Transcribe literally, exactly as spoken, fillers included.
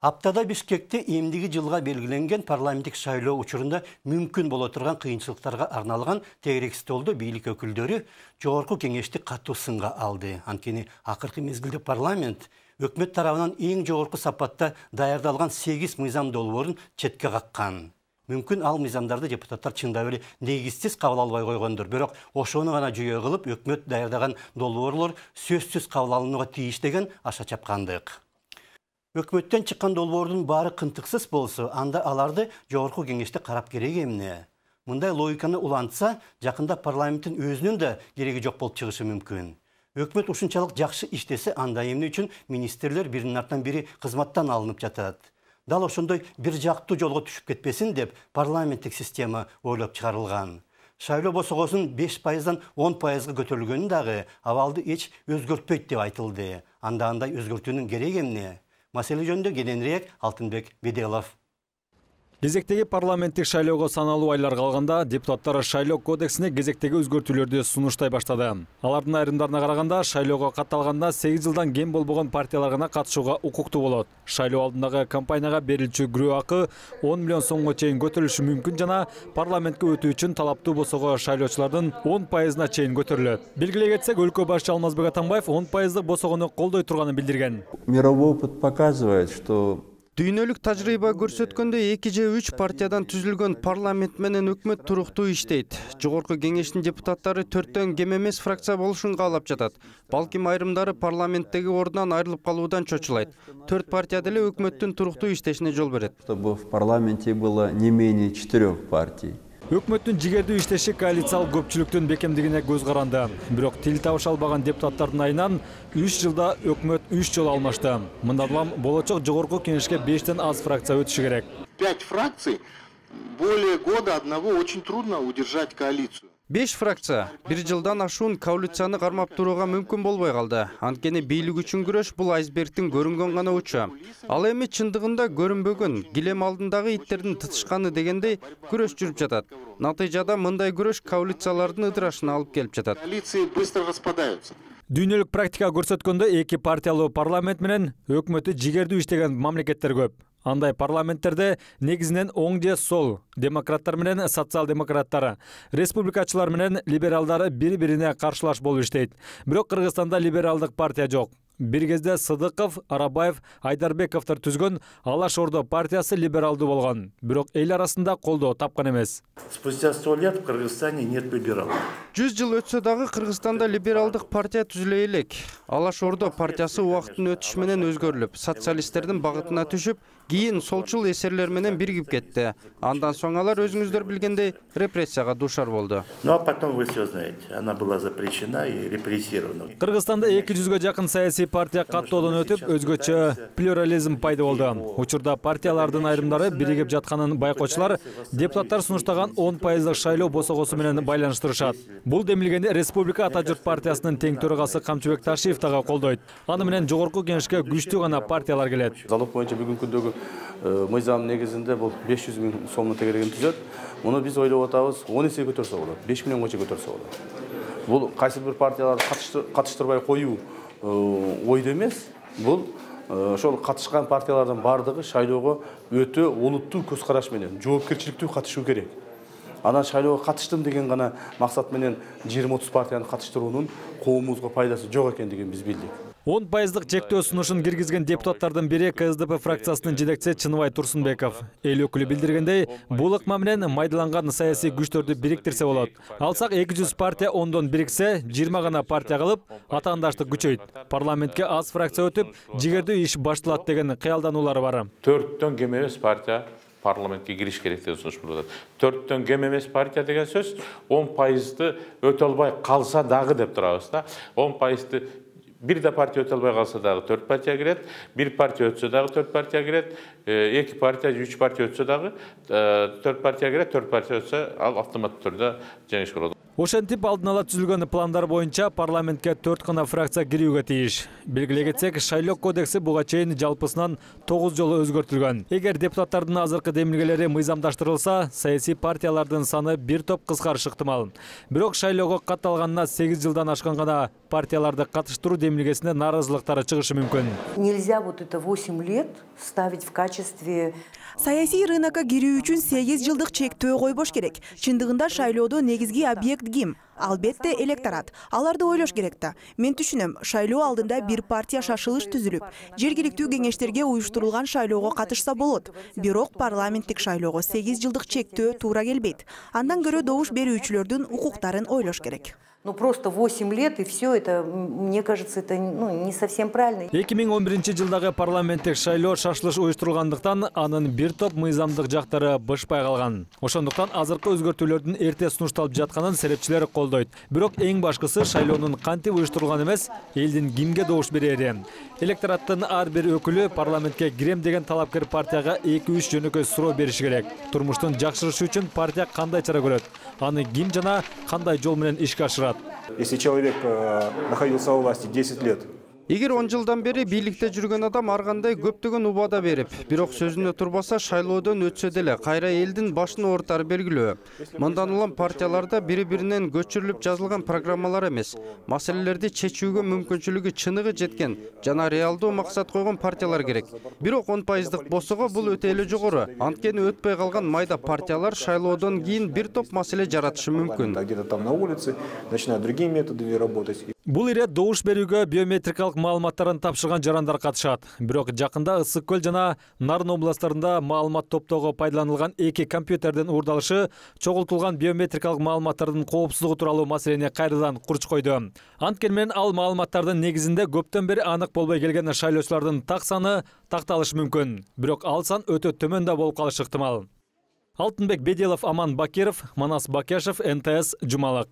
Аптада Бишкекте эмдиги жылга белгиленген парламенттик шайлоо учурунда мүмкүн боло турган кыйынчылыктарга арналган тегерек столдо бийлик өкүлдөрү жогорку кеңешти катуу сынга алды. Анткени акыркы мезгилде парламент өкмөт тарабынан эң жогорку сапатта даярдалган сегиз мыйзам долбоорун четке каккан. Мүмкүн ал мыйзамдарды депутаттар чындап эле негизсиз кабыл албай койгондур. Бирок ошону гана жүйө кылып өкмөт даярдаган долбоорлор сөзсүз кабыл алынууга тийиш деген аша чапкандык. Өкмөттөн чыккан долбоордун баары кынтыксыз болсо, анда аларды жогорку кеңеште карап керек эмне? Мындай логиканы улантса, жакында парламенттин өзүнүн да кереги жок болуп чыгышы мүмкүн. Өкмөт ушунчалык жакшы иштесе, анда эмне үчүн министрлер биринин артынан бири кызматтан алынып жатат? Дал ошондой бир жактуу жолго түшүп кетпесин деп парламенттик система ойлоп чыгарылган. Шайлоо босогосунун беш пайыздан он пайызга көтөрүлгөнү дагы абалды эч өзгөртпөйт деп айтылды. Анда андай өзгөртүүнүн кереги эмне? Маселе жөнүндө кененирээк Алтынбек Беделов. Кезектеги парламенттик шайлоого саналуу айлар калганда депутаттар шайлоо кодексине кезектеги өзгөртүүлөрдү сунуштай баштады. Алардын айрымдарына караганда шайлоого катталганда сегиз жылдан кем болбогон партиялар гана катышууга укуктуу болот. Шайлоо алдындагы кампанияга берилчү күрөө акы он миллион сомго чейин көтөрүлүшү мүмкүн жана парламентке өтүү үчүн талаптуу босого шайлоочулардын он пайызына чейин көтөрүлөт. Белгилей кетсек, өлкө башчы Алмазбек Атамбаев он пайыздык босогону колдой турганын билдирген. Мировой опыт показывает, что Дүйнөлүк тажрыйба көрсөткөндөй эки же үч партиядан түзүлгөн парламент менен өкмөт туруктуу иштейт. Жогорку кеңештин депутаттары төрттөн кем эмес фракция болушун каалап жатат. Балким айрымдары парламенттеги ордунан айрылып калуудан чочулайт. Төрт партия деле өкмөттүн туруктуу иштешине жол берет. Чтобы в парламенте было не менее четырех партий. Өкмөттүн жигердүү иштеши коалициялык көпчүлүктүн бекемдигине көз каранды. Бирок тил табыша албаган депутаттардын айынан үч жылда өкмөт үч жолу алмашты. Мындан улам болочок жогорку кеңешке бештен аз фракция өтүшү керек. Пять фракций, более года одного очень трудно удержать коалицию. Беш фракция бир жылдан ашуун коалицияны кармап турууга мүмкүн болбой калды. Анткени бийлик үчүн күрөш бул айсбергдин көрүнгөн гана учу. Ал эми чындыгында көрүнбөгөн, килем алдындагы иттердин тытышканы дегендей күрөш жүрүп жатат. Натыйжада мындай күрөш коалициялардын ыдырашына алып келип жатат. Коалиции быстро распадаются. Дүйнөлүк практика көрсөткөндөй эки партиялуу парламент менен өкмөтү жигердүү иштеген мамлекеттер көп. Андай парламенттерде негизинен оң же сол, демократтар менен социал-демократтар, республикачылар менен либералдар бири-бирине каршылаш болуп иштейт. Бирок Кыргызстанда либералдык партия жок. Бир кезде Сыдыков, Арабаев, Айдарбековдор түзгөн Алаш Ордо партиясы либералдуу болгон. Бирок эл арасында колдоо тапкан эмес. Спустя сто лет в Кыргызстане нет либералов. Жүз жыл өтсө дагы Кыргызстанда либералдык партия түзүлө элек. Алаш Ордо партиясы убакыттын өтүшү менен өзгөрүлүп, социалисттердин багытына түшүп, кийин солчул эсерлер менен биригип кетти. Андан соң алар өзүңүздөр билгендей репрессияга дуушар болду. Ну а потом вы все знаете, она была запрещена и репрессирована. Кыргызстанда эки жүзгө жакын саясий партия каттоодон өтүп, өзгөчө плюрализм пайда болду. Учурда партиялардын айрымдары биригип жатканын байкоочулар депутаттар сунуштаган он пайыздык шайлоо босогосу менен байланыштырышат. Бул демилгени Республика Ата журт партиясынын тең төрагасы Камчыбек Ташиев дагы колдойт. Аны менен жогорку кеңешке күчтүү гана партиялар келет. Залог боюнча бүгүнкү күндөгү мыйзам негизинде бул беш жүз миң сомдун тегерегин түзөт. Муну биз ойлоп атабыз, он эсе көтөрсө болот, беш миллионго чейин көтөрсө болот. Бул кайсы бир партияларды катыштырбай коюу ойдо эмес. Бул ошол катышкан партиялардын бардыгы шайлоого өтө олуттуу көз караш менен, жоопкерчиликтүү катышуу керек. Анан шайлоого катыштым деген гана максат менен жыйырма отуз партияны катыштыруунун коомубузга пайдасы жок экендигин биз билдик. он пайыздык чектөө сунушун киргизген депутаттардын бири КСДП фракциясынын жетекчиси Чыныбай Турсунбеков. Эл өкүлү билдиргендей, бул ыкма менен майдаланган саясий күчтөрдү бириктирсе болот. Алсак эки жүз партия ондон бириксе, жыйырма гана партия кылып, атаандаштык күчөйт. Парламентке аз фракция өтүп, жигердүү иш башталат деген кыялдануулары бар. Төрттөн кем эмес партия парламентке кириш керек деп сунуш болот. Төрттөн кем эмес партия деген сөз он пайызды өтө албай калса дагы деп турабыз да. он пайызды бир да партия өтө албай калса дагы төрт партия кирет, бир партия өтсө дагы төрт партия кирет, эки партия, үч партия өтсө дагы төрт партия кирет, төрт партия өтсө ал автоматтуу түрдө жеңиш болот. Ошентип алдын ала түзүлгөн пландар боюнча парламентке төрт гана фракция кирүүгө тийиш. Белгилей кетсек, шайлоо кодекси буга чейин жалпысынан тогуз жолу өзгөртүлгөн. Эгер депутаттардын азыркы демилгелери мыйзамдаштырылса, саясий партиялардын саны бир топ кыскарышы ыктымал. Бирок шайлоого катталганына сегиз жылдан ашкан гана партияларды катыштыруу демилгесине нааразылыктары чыгышы мүмкүн. Нельзя вот это восемь лет ставить в качестве... Саясий рынокко кирүү үчүн сегиз жылдык чектөө койбош керек. Чындыгында шайлоодо негизги объект ким? Албетте электорат. Аларды ойлош керек да. Мен түшүнөм, шайлоо алдында бир партия шашылыш түзүлүп, жергиликтүү кеңештерге уюштурулган шайлоого катышса болот. Бирок парламенттик шайлоого сегиз жылдык чектөө туура келбейт. Андан көрө добуш берүүчүлөрдүн укуктарын ойлош керек. Ну просто восемь лет и все это, мне кажется, это ну, не совсем правильно. эки миң он биринчи жылдагы парламенттик шайлоо шашылыш уюштурулгандыктан анын бир топ мыйзамдык жактары бышпай калган. Ошондуктан азыркы өзгөртүүлөрдүн эрте сунушталып жатканын серепчилер колдойт. Бирок эң башкысы шайлоонун кантип уюштурулган эмес, элдин кимге добуш берери. Электораттын ар бир өкүлү парламентке кирем деген талапкер партияга эки үч жөнөкөй суроо бериши керек. Турмуштун жакшырышы үчүн партия кандай чара көрөт? Аны ким жана кандай жол менен ишке ашырат? Если человек находился у власти десять лет, Эгер он жылдан бери бийликте жүргөн адам ар кандай көптөгөн убада берип, бирок сөзүнө турбаса шайлоодон өтсө деле кайра элдин башын оорутары белгилүү. Мындан улам партияларда бири-биринен көчүрүлүп жазылган программалар эмес, маселелерди чечүүгө мүмкүнчүлүгү чыныгы жеткен жана реалдуу максат койгон партиялар керек. Бирок он пайыздык босого бул өтө эле жогору. Анткени өтпөй калган майда партиялар шайлоодон кийин бир топ маселе жаратышы мүмкүн. где-то там на улице, начинают другими методами работать. Бул ирет добуш берүүгө биометрикалык маалыматтарын тапшырган жарандар катышат. Бирок жакында Ысык көл жана Нарын областарында маалымат топтоого пайдаланылган эки компьютердин уурдалышы чогултулган биометрикалык маалыматтардын коопсуздугу тууралуу маселени кайрадан курч койду. Анткени менен ал маалыматтардын негизинде көптөн бери анык болбой келген шайлоочулардын так саны такталышы мүмкүн. Бирок ал сан өтө төмөн да болуп калышы ыктымал. Алтынбек Беделов, Аман Бакиров, Манас Бакешев, эн тэ эс, Жумалык.